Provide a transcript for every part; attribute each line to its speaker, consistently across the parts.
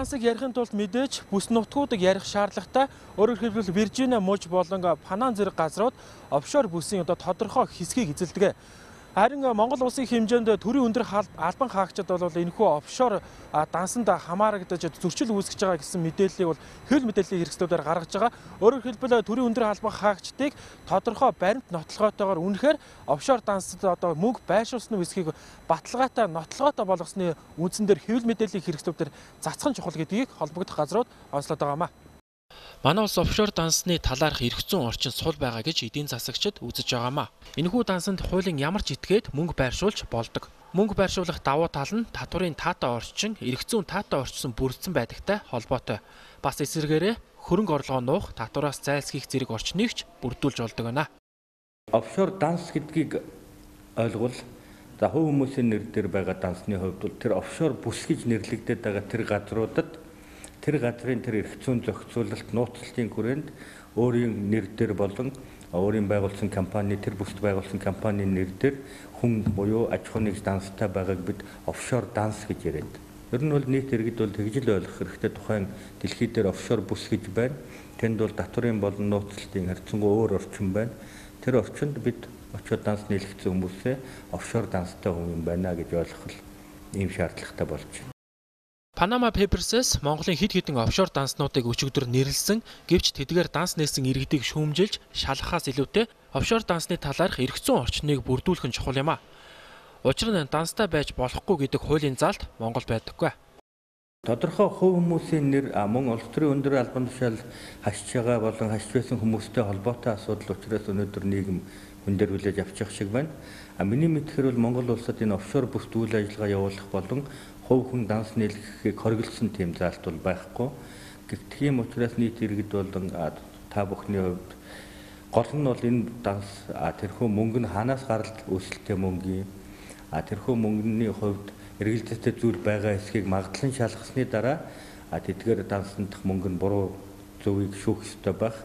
Speaker 1: дансыг ярихын тулд мэдээж бүс нутгуудыг ярих шаардлагатай. Өөрөөр хэлбэл Виржиниа муж болон Панама зэрэг газрууд офшор бүсийн тодорхой хэсгийг эзэлдэг. Харин Монгол улсын хэмжээнд төрийн өндөр албан хаагчид бол энэхүү офшор дансанд хамаарагдаж зөрчил үүсгэж байгаа гэсэн мэдээллийг бол хөл мэдээллийн хэрэгслүүдээр гаргаж байгаа. Өөрөөр хэлбэл төрийн өндөр албан хаагчдыг тодорхой баримт нотлогоотойгоор үнэхээр офшор дансад мөнгө байршуулсны үсгийг баталгаатай нотлогоотой болгосны үндсэн дээр хөл мэдээллийн хэрэгслүүдээр цацхан чухал гэдгийг холбогдох газрууд онцлоод байгаамаа. Манай улс офшор дансны талаарх эрх зүйн орчин сул байгаа гэж эдийн засагчид үзэж байгаамаа. Энэхүү дансанд хуулийн ямар ч этгээд мөнгө байршуулж болдог. Мөнгө байршуулах давуу тал нь татварын таатай орчин, эрх зүйн таатай орчсон бүрдсэн байдагтай холбоотой. Бас эсвэргээрээ хөрөнгө орлогоо нуух, татвараас зайлсхийх зэрэг орчныг ч бүрдүүлж болдог байна.
Speaker 2: Офшор данс гэдгийг ойлгол хувь хүмүүсийн нэр дээр байгаа дансны хувьд бол тэр офшор бүс гэж нэрлэгдээд байгаа тэр газруудад тэр газрын тэр эрх зүйн зохицуулалт нууцлалтын хүрээнд өөрийн нэр дээр болон өөрийн байгуулсан компани тэр бүсд байгуулсан компанийн нэр дээр хүн буюу аж ахуйн нэгж данстай байгааг бид офшор данс гэж яриад. Ер нь бол нийт иргэд бол тэгж л ойлгох хэрэгтэй тухайн дэлхий дээр офшор бүс гэж байна. Тэнд бол татварын болон нууцлалтын харьцангуй өөр орчин байна. Тэр орчинд бид очиод данс нийлэгдсэн хүмүүсээ офшор данстай хүн байна гэж ойлгох ийм шаардлагатай болж байна.
Speaker 1: Panama Papers-с Монголын хэд хэдэн офшор данснуудыг өчигдөр нэрлсэн гэвч тэдгээр данс нээсэн иргэдийг шүүмжилж шалгахаас илүүтэй офшор дансны талаарх эрх зүйн орчныг бүрдүүлэх нь чухал юм а. Учир нь данстай байж болохгүй гэдэг хуулийн заалт Монгол байдаггүй.
Speaker 2: Тодорхой хувь хүмүүсийн нэр мөн улс төрийн өндөр албан тушаал хашиж байгаа болон хашиж байсан хүмүүстэй холбоотой асуудал учраас өнөөдөр нийгэм хүн дээр хүлээж авчих шиг байна. Миний мэдхээр бол Монгол улсад энэ офшор бүсд үйл ажиллагаа явуулах болон хувь хүн данс нийлгэхийг хориглосон тийм заалт бол байхгүй. Тийм учраас нийт иргэд болон та бүхний хувьд гол нь бол энэ данс тэрхүү мөнгө нь хаанаас гаралт өсөлттэй мөнгө юм. Тэрхүү мөнгөний хувьд эргэлзээтэй зүйл байгаа эсхийг магадлан шалгасны дараа тэдгээр дансанд мөнгө нь буруу зөвийг шүүх ёстой байх.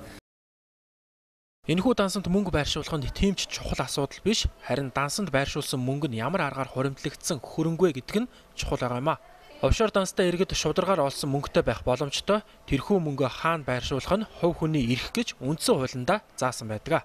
Speaker 1: Энэхүү дансанд мөнгө байршуулах нь тийм ч чухал асуудал биш, харин дансанд байршуулсан мөнгө нь ямар аргаар хуримтлагдсан хөрөнгө гэдэг нь чухал байгаа юм а. Офшор данстай иргэд шударгаар олсон мөнгөтэй байх боломжтой тэрхүү мөнгө хаана байршуулах нь хувь хүний эрх гэж үндсэн хуулиндаа заасан байдаг.